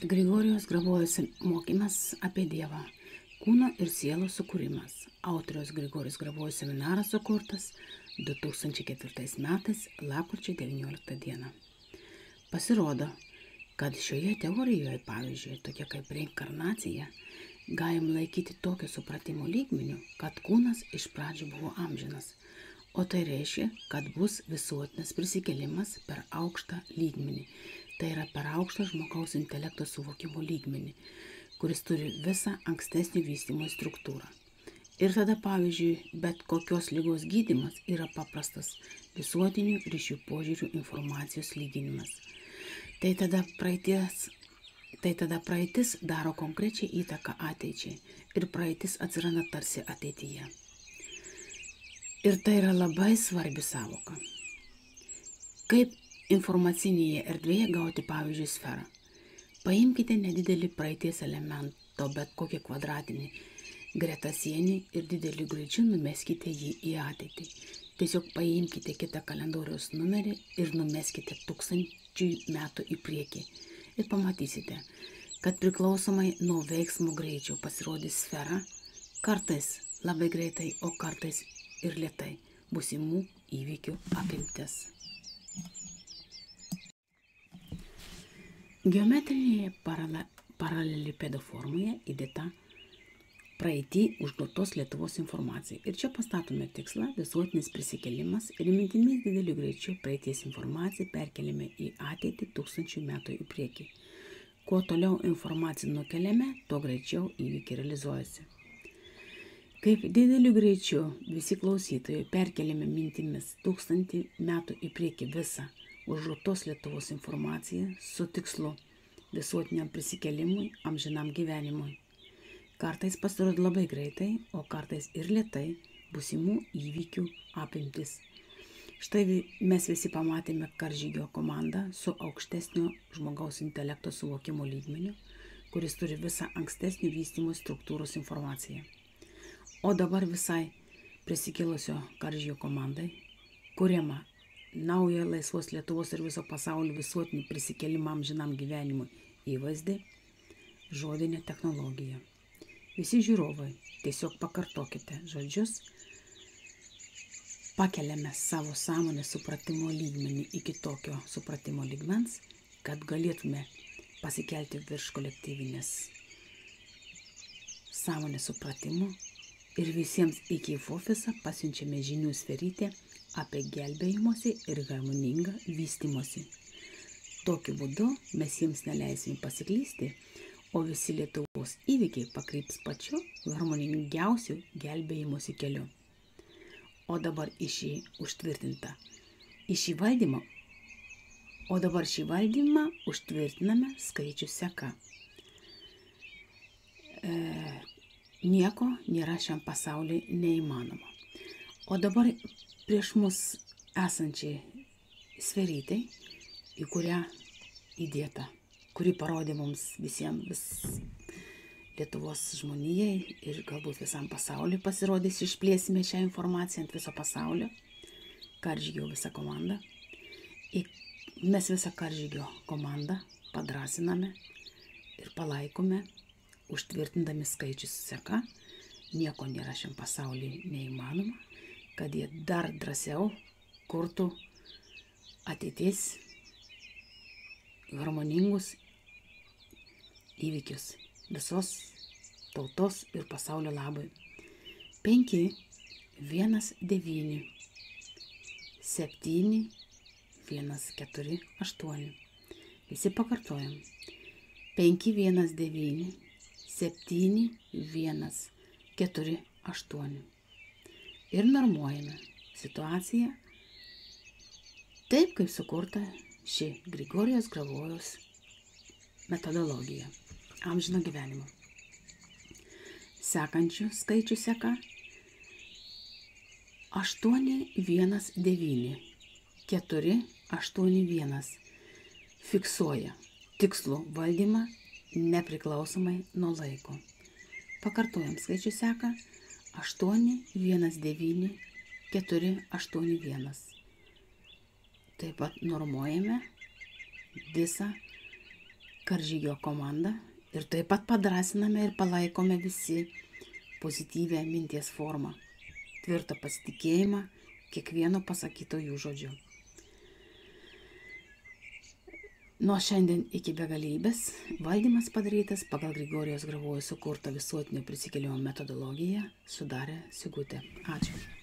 Grigorijos Gravojos mokymas apie Dievą. Kūno ir sielos sukūrimas. Autoriaus Grigorijos Gravojos seminaras sukurtas 2004 metais, lapkričio 19 dieną. Pasirodo, kad šioje teorijoje, pavyzdžiui, tokia kaip reinkarnacija, galim laikyti tokio supratimo lygmeniu, kad kūnas iš pradžių buvo amžinas, o tai reiškia, kad bus visuotinas prisikėlimas per aukštą lygmenį. Tai yra per aukštą žmogaus intelekto suvokimo lygmenį, kuris turi visą ankstesnį vystymo struktūrą. Ir tada, pavyzdžiui, bet kokios ligos gydymas yra paprastas visuotinių ryšių požiūrių informacijos lyginimas. Tai tada praeitis daro konkrečią įtaką ateičiai ir praeitis atsiranda tarsi ateityje. Ir tai yra labai svarbi savoka. Kaip informacinėje erdvėje gauti, pavyzdžiui, sferą. Paimkite nedidelį praeities elemento, bet kokį kvadratinį greta sienį ir dideliu greičiu numeskite jį į ateitį. Tiesiog paimkite kitą kalendoriaus numerį ir numeskite 1000 metų į priekį. Ir pamatysite, kad priklausomai nuo veiksmo greičio pasirodys sfera, kartais labai greitai, o kartais ir lėtai būsimų įvykių apimtis. Geometrinėje paralelipedo formoje įdėta praeitį užduotos Lietuvos informacija. Ir čia pastatome tikslą visuotinis prisikėlimas ir mintimis dideliu greičiu praeities informaciją perkeliame į ateitį 1000 metų į priekį. Kuo toliau informaciją nukeliame, tuo greičiau įvykiai realizuojasi. Kaip dideliu greičiu visi klausytojai perkeliame mintimis 1000 metų į priekį visą užduotos Lietuvos informaciją su tikslu visuotiniam prisikėlimui, amžinam gyvenimui. Kartais pasirodo labai greitai, o kartais ir lėtai būsimų įvykių apimtis. Štai mes visi pamatėme karžygio komandą su aukštesnio žmogaus intelekto suvokimo lygmeniu, kuris turi visą ankstesnio vystymo struktūros informaciją. O dabar visai prisikėlusio karžygio komandai kuriama naują laisvos Lietuvos ir viso pasaulio visuotinį prisikėlimą amžinam gyvenimui įvaizdį, žodinę technologiją. Visi žiūrovai, tiesiog pakartokite žodžius, pakeliame savo sąmonės supratimo lygmenį iki tokio supratimo lygmens, kad galėtume pasikelti virš kolektyvinės sąmonės supratimo ir visiems iki ofisą pasiunčiame žinių sferytę apie gelbėjimosi ir harmoningą vystimosi. Tokiu būdu mes jiems neleisime pasiklysti, o visi Lietuvos įvykiai pakryps pačiu harmoningiausiu gelbėjimosi keliu. O dabar šį valdymą užtvirtiname skaičių seka. Nieko nėra šiam pasauliui neįmanoma. O dabar prieš mus esančiai sferytai, į kurią įdėta, kuri parodė mums visiems Lietuvos žmonijai ir galbūt visam pasauliui pasirodys, išplėsime šią informaciją ant viso pasaulio, karžygio visą komandą. Mes visą karžygio komandą padrasiname ir palaikome, užtvirtindami skaičius seka, nieko nėra šiam pasauliui neįmanoma, kad jie dar drąsiau kurtų ateities harmoningus įvykius visos tautos ir pasaulio labui. 5, 1, 9, 7, 1, 4, 8. Visi pakartojam. 5, 1, 9, 7, 1, 4, 8. Ir normuojame situaciją taip, kaip sukurta ši Grigorijos Gravojos metodologija amžino gyvenimo. Sekančių skaičių seka 8, 1, 9, 4, 8, 1. Fiksuoja tikslų valdymą nepriklausomai nuo laiko. Pakartojam skaičių seka 8, 1, 9, 4, 8, 1. Taip pat normuojame visą karžygio komanda ir taip pat padrasiname ir palaikome visi pozityvę minties formą, tvirtą pasitikėjimą kiekvieno pasakyto jų žodžiu. Nuo šiandien iki begalybės valdymas padarytas pagal Grigorijaus Gravojaus sukurtą visuotinio prisikėlimo metodologiją sudarė Sigutė. Ačiū.